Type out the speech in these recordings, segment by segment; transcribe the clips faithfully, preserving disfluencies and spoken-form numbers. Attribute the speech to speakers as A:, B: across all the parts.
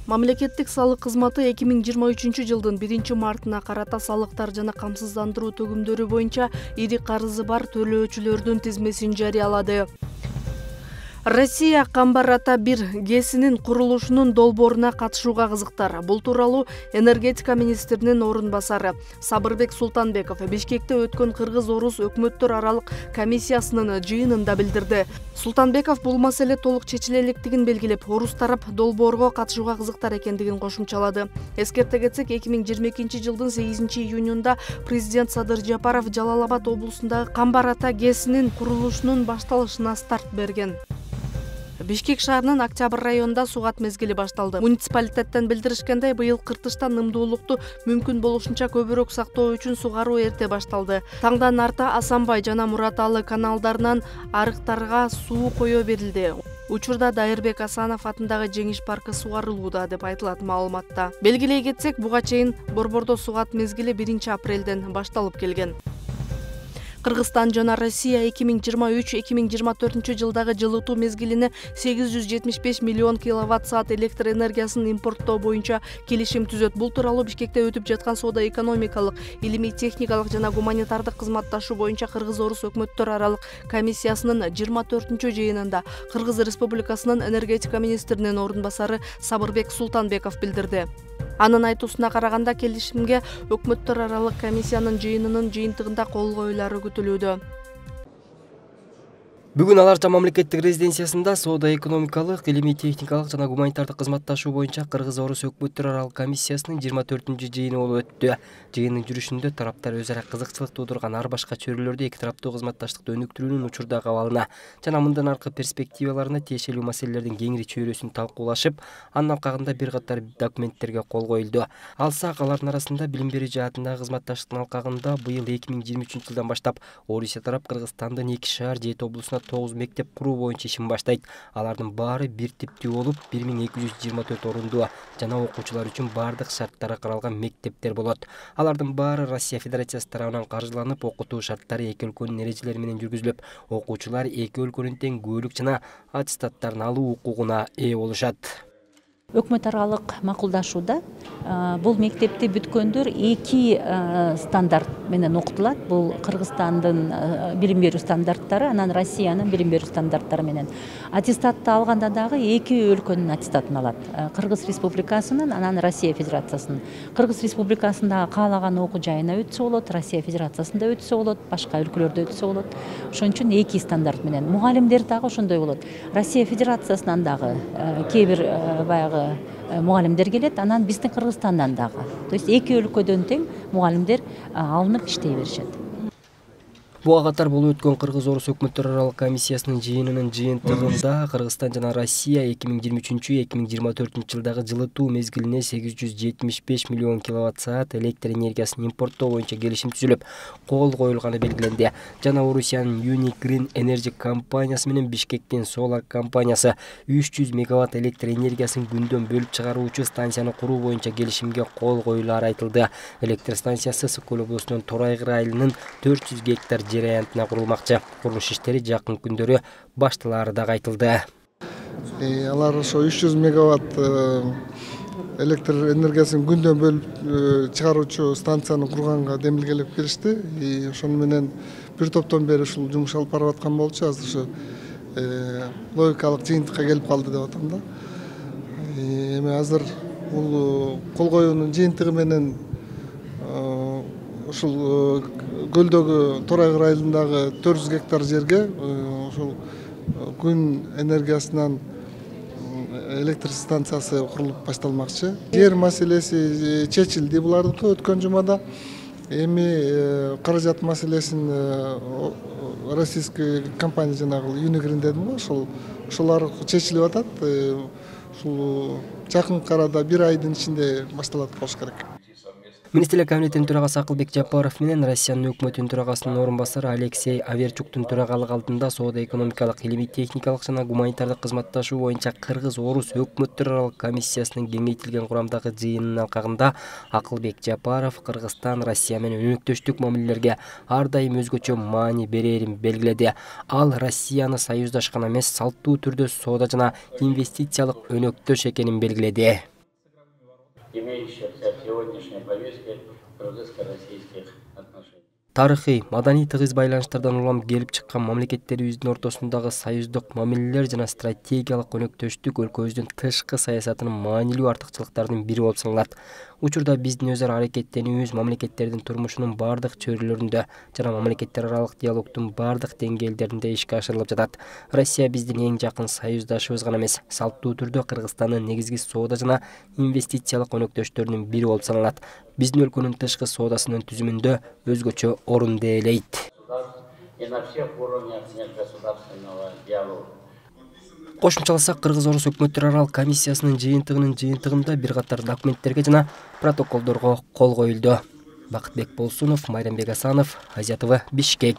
A: Мамлекеттик салык кызматы эки миң жыйырма үчүнчү жылдын биринчи мартына карата салыктар жана камсыздандыруу төгүмдөрү боюнча ири карызы бар төлөөчүлөрдүн тизмесин жарыялады. Россия Камбар Ата бир ГЭСинин курулушунун долбооруна катышууга кызыктар. Бул тууралуу энергетика министринин орун басары Сабырбек Султанбеков Бишкекте өткөн Кыргыз-Орус өкмөттөр аралык комиссиясынын жыйынында билдирди. Султанбеков бул маселе толук чечиле электигин белгилеп, орус тарап долбоорго катышууга кызыктар экендигин кошумчалады. Эскерте кетсек, эки миң жыйырма экинчи жылдын сегизинчи июнунда президент Садыр Жапаров Жалал Абад облусундагы Камбар Ата ГЭСинин курулушунун башталышына старт берген. Бишкек шаарынын Октябрь районунда сугат мезгили башталды. Муниципалитеттен билдиришкендей, быйыл кыртыштан ымдуулукту мүмкүн болушунча көбүрөөк сактоо үчүн сугаруу эрте башталды. Таңдан арта Асанбай жана Мураталы каналдарынан арыктарга суу кое берилди. Учурда Дайырбек Асанов атындагы Жеңиш паркы сугарылууда деп айтылат маалыматта. Белгилей кетсек, буга чейин Борбордо сугат мезгили биринчи апрелден башталып келген. Кыргызстан жана Россия эки миң жыйырма үч — эки миң жыйырма төртүнчү жылдагы жылытуу мезгилине сегиз жүз жетимиш беш миллион киловатт саат электр энергиясын импорттоо боюнча келишим түзөт. Бул тууралуу Бишкекте өтүп жаткан соода-экономикалык, илимий техникалык жана гуманитардык кызматташуу боюнча Кыргыз-Орус өкмөттөр аралык комиссиясынын жыйырма төртүнчү жыйынында Кыргыз Республикасынын энергетика министринин орун басары Сабырбек Султанбеков билдирди. Анын айтуусуна караганда, келишимге өкмөттөр аралык комиссиянын жыйынынын жыйынтыгында кол коюлары күтүлүүдө.
B: Бүгүн Аларча мамлекеттик резиденциясында соода-экономикалык, илимий техникалык жана гуманитардык кызматташуу боюнча Кыргыз-Орус өкмөттөр аралык комиссиясынын жыйырма төртүнчү жыйыны болуп өттү. Жыйындын жүрүшүндө тараптар өз ара кызыкчылык туудурган ар башка чөйрөлөрдө эки тараптуу кызматташтыкты өнүктүрүүнүн учурдагы абалына жана мындан аркы перспективаларына тиешелүү маселелердин кеңири чөйрөсүн талкуулашып, анын алкагында бир катар документтерге кол коюлду. Алсак, алардын арасында билим берүү жаатындагы кызматташтыктын алкагында быйыл эки миң жыйырма үчүнчү жылдан баштап Орусия тарап Кыргызстандын эки шаар жети облусуна тогуз мектеп куруу боюнча ишин баштайт. Алардын баары бир типтүү болуп, бир миң эки жүз жыйырма төрт орундуу жана окуучулар үчүн баардык шарттары каралган мектептер болот. Алардын баары Россия Федерациясы тарабынан каржыланып, окутуу шарттары эки өлкөнүн эрежелери менен жүргүзүлүп, окуучулар эки өлкөнүн тең күбөлүк жана аттестаттарын алуу укугуна ээ болушат.
C: Өкмөт аралык макулдашууда бул мектепти бүткөндөр эки стандарт менен окутулат. Бул Кыргызстандын билим берүү стандарттары, анан Россиянын билим берүү стандарттары менен. Аттестатты алганда дагы эки өлкөнүн аттестатын алат. Кыргыз Республикасынын, анан Россия Федерациясынын. Кыргыз Республикасындагы каалаган окуу жайына өтсө болот, Россия Федерациясында өтсө болот, башка өлкөлөрдө өтсө болот. Ошон үчүн эки стандарт менен. Мугалимдер дагы ошондой болот. Россия Федерациясынан дагы кээ бир баягы мугалимдер келет, анан биздин Кыргызстандан дагы. То есть эки өлкөдөн тең мугалимдер алынып иштей беришет.
B: Буга катар болуп өткөн Кыргыз-Орус өкмөттөр аралык комиссиясынын жыйынынын жыйынтыгында Кыргызстан жана Россия эки миң жыйырма үчүнчү — эки миң жыйырма төртүнчү жылдагы жылытуу мезгилине сегиз жүз жетимиш беш миллион киловатт саат электр энергиясын импорттоо боюнча келишим түзүлүп, кол коюлганы белгиленди. Жана Орусиянын Unique Green Energy компаниясы менен Бишкектин Solar компаниясы үч жүз мегаватт электр энергиясын күндөн бөлүп чыгаруучу станцияны куруу боюнча келишимге кол коюлары айтылды. Электр станциясы Сыкөл облусунун Торайгыр айылынын төрт жүз гектар жер аянтына курулмакчы. Курулуш иштери жакын күндөрү башталары да айтылды.
D: Алар ошо үч жүз мегаватт электр энергиясын күндөн бөлүп чыгаруучу станцияны курганга демилгелеп келишти. Ошону менен бир топтон бери ушул жумуш алып барып аткан болчу. Азыр ошо логикалык жыйынтыкка келип калды деп атам да. Эми азыр бул кол коюунун жыйынтыгы менен ушул көлдөгү Торайгыр айылындагы төрт жүз гектар жерге ушул күн энергиясынан электр станциясы курулуп башталмакчы. Жер маселеси чечилди булардыкы өткөн жумада. Эми каражат маселесин российский компания жанагы Unique Green дедим го, ошол ошолор чечилип атат. Ушул жакынкы арада бир айдын ичинде башталат болуш керек.
B: Министрлер кабинетинин төрагасы Акылбек Жапаров менен Россиянын өкмөтүнүн төрагасынын орун басары Алексей Аверчуктун төрагалык алдында соода-экономикалык, илимий техникалык жана гуманитардык кызматташуу боюнча Кыргыз-Орус өкмөттөр аралык комиссиясынын кеңейтилген курамдагы жыйынынын алкагында Акылбек Жапаров Кыргызстан Россия менен өнөктөштүк мамилелерге ар дайым өзгөчө маани берерин белгиледи. Ал Россияны союздаш гана эмес, салттуу түрдө соода жана инвестициялык өнөктөш экенин белгиледи.
E: вещи в сегодняшней повестке кыргызско-российских отношений.
B: Тарыхый, маданий тыгыз байланыштардан улам келип чыккан мамлекеттерибиздин ортосундагы союздук мамилелер жана стратегиялык өнөктөштүк өлкөбүздүн тышкы саясатынын маанилүү артыкчылыктарынын бири болуп саналат. Учурда биздин өз ара аракеттенүүбүз мамлекеттердин турмушунун бардык чөйрөлөрүндө жана мамлекеттер аралык диалогдун бардык деңгээлдеринде ишке ашырылып жатат. Россия биздин эң жакын союздашыбыз гана эмес, салттуу түрдө Кыргызстандын негизги соода жана инвестициялык өнөктөштөрүнүн бири болуп саналат. Биздин өлкөнүн тышкы соодасынын түзүмүндө өзгөчө орунду ээлейт.
E: И на всех уровнях межгосударственного диалога.
B: Кошумчаласак, Кыргыз-Орус өкмөттөр аралык комиссиясынын жыйынтыгынын жыйынтыгында бир катар документтерге жана протоколдорго кол коюлду. Бакытбек Болсунов, Майрамбек Асанов, Азия ТВ, Бишкек.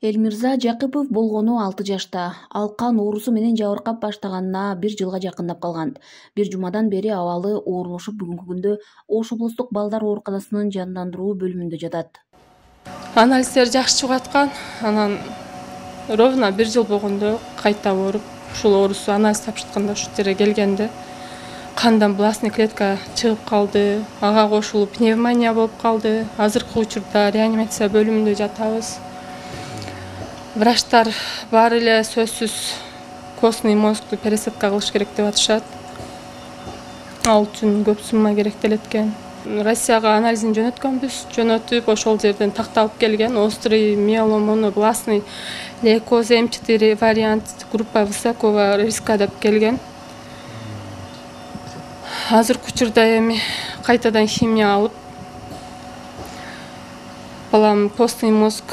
F: Элмирза Жакыпов болгону алты жашта. Ал кан оорусу менен жабыркап баштаганына бир жылга жакындап калган. Бир жумадан бери абалы оорлошуп бүгүнкү күндө Ош облустук балдар ооруканасынын жандандыруу бөлүмүндө жатат.
G: Анализдер жакшы чыгып аткан. Анан ровно бир жыл болгондо кайта ооруп, ушул оорусу анализ тапшыртканда ушул жерге келгенде кандан бластный клетка чыгып калды, ага кошулуп пневмония болуп калды. Азыркы учурда реанимация бөлүмүндө жатабыз. Врачтар баары эле сөзсүз костный мозгду пересадка кылыш керек деп атышат. Ал үчүн көп сумма керектелет экен. Россияга анализин жөнөткөнбүз. Жөнөтүп ошол жерден такталып келген острый миеломонобластный лейкоз эм четыре вариант группа высокого риска деп келген. Азыркы учурда эми кайтадан химия алып балам костный мозг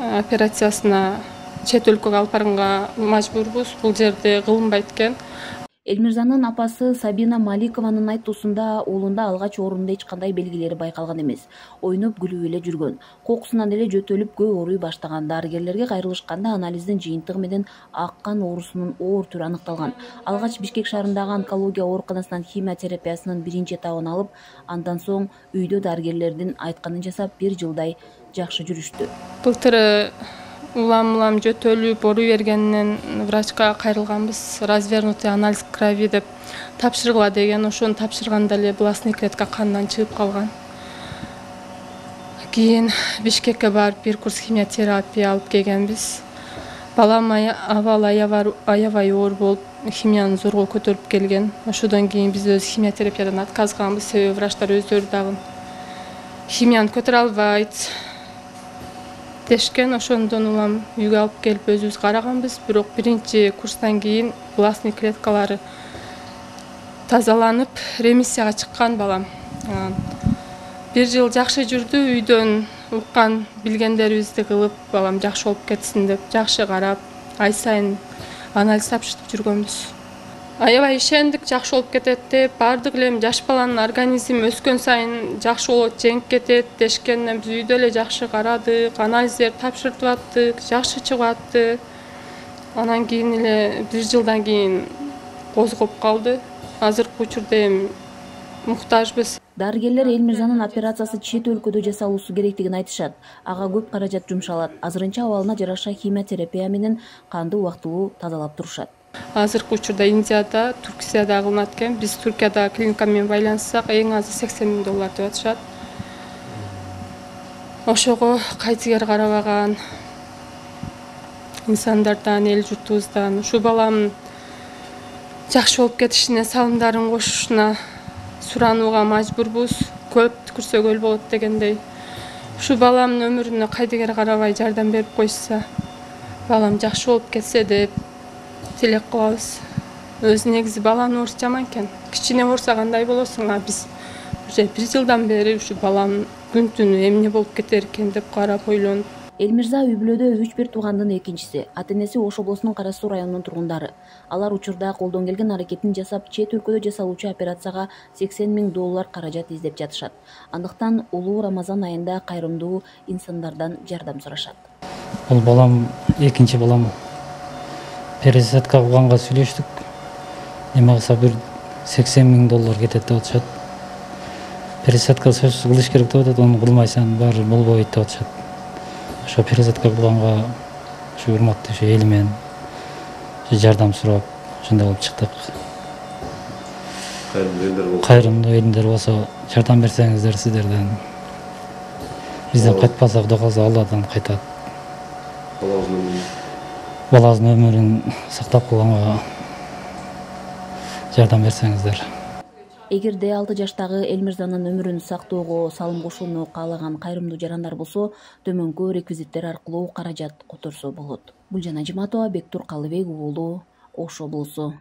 G: операциясына чет өлкөгө алып барганга мажбурбуз. Бул жерде кылынбайт экен.
F: Элмирзанын апасы Сабина Маликованын айтуусунда уулунда алгач оорунда эч кандай белгилери байкалган эмес. Ойноп күлүп эле жүргөн. Кокусунан эле жөтөлүп көө ооруй баштаган. Дарыгерлерге кайрылышканда анализдин жыйынтыгы менен ак кан оорусунун оор түрү аныкталган. Алгач Бишкек шаарындагы онкология ооруканасынан химиотерапиясынын биринчи этабын алып, андан соң үйдө дарыгерлердин айтканын жасап бир жылдай жакшы жүрүштү.
G: Былтыр улам-улам жөтөлүп ооруй бергенинен врачка кайрылганбыз. Развернутый анализ крови деп тапшыргыла деген. Ошону тапшырганда эле бластный клетка кандан чыгып калган. Кийин Бишкекке барып бир курс химиотерапия алып келгенбиз. Балам абал аябай оор болуп, химияны зорго көтөрүп келген. Ошодон кийин биз өз химиотерапиядан отказганбыз. Себеби врачтар өздөрү дагы химияны көтөрө албайт дешкен. Ошондон улам үйгө алып келип өзүбүз караганбыз. Бирок биринчи курстан кийин бластный клеткалары тазаланып, ремиссияга чыккан балам. Бир жыл жакшы жүрдү, үйдөн уккан билгендерибизди кылып, балам жакшы болуп кетсин деп жакшы карап, ай сайын анализ тапшыртып жүргөнбүз. Аябай ишендик, жакшы болуп кетет деп, бардык эле жаш баланын организми өскөн сайын жакшы болот, жеңип кетет дешкенден биз үйдө эле жакшы карадык, анализдер тапшыртып аттык, жакшы чыгып атты. Анан кийин эле бир жылдан кийин козгоп калды. Азыркы учурда эми муктажбыз.
F: Дарыгерлер Элмирзанын операциясы чет өлкөдө жасалуусу керектигин айтышат. Ага көп каражат жумшалат. Азырынча абалына жараша химиотерапия менен канды убактылуу тазалап турушат.
G: Азыркы учурда Индияда, Туркияда кылынат экен. Биз Туркияда клиника менен байланыссак, эң азы сексен миң доллар деп атышат. Ошого кайтыгер карабаган инсандардан, эл журтубуздан ушу баламдын жакшы болуп кетишине салымдарын кошушуна суранууга мажбурбуз. Көп түкүрсө өл болот дегендей. Ушу баламдын өмүрүнө кайдыгер карабай жардам берип койсо, балам жакшы болуп кетсе деп тилек кылабыз. Өзү негизи баланын оорусу жаман экен. Кичине оорса кандай болосуң, а биз уже бир жылдан бери ушу балам күн түнү эмне болуп кетер экен деп карап ойлонуп
F: Элмирза үй бүлөдө үч бир туугандын экинчиси. Ата-энеси Ош облусунун Кара Суу районунун тургундары. Алар учурда колдон келген аракетин жасап, чет өлкөдө жасалуучу операцияга сексен миң доллар каражат издеп жатышат. Андыктан улуу Рамазан айында кайрымдуу инсандардан жардам сурашат.
H: Бул балам экинчи балам. Пересадка кылганга сүйлөштүк. Эме кылса бир сексен миң доллар кетет деп атышат. Пересадка кылыш керек деп атат, аны кылмайсаң баары болбойт деп атышат. Ошо пересадка кылганга ушу урматтуу ушу эл менен жардам сурап, ошондой болуп чыктык. Кайрымдуу элдер болсо жардам берсеңиздер сиздерден. Бизден кайтпасак да калса Алладан кайтат. Балаңыздын өмүрүн сактап калганга жардам берсеңиздер.
F: Эгерде алты жаштагы Элмирзанын өмүрүн сактоого салым кошууну каалаган кайрымдуу жарандар болсо, төмөнкү реквизиттер аркылуу каражат которсо болот. Гүлжан Ажиматова, Бектур Калыбек уулу, Ош облусу.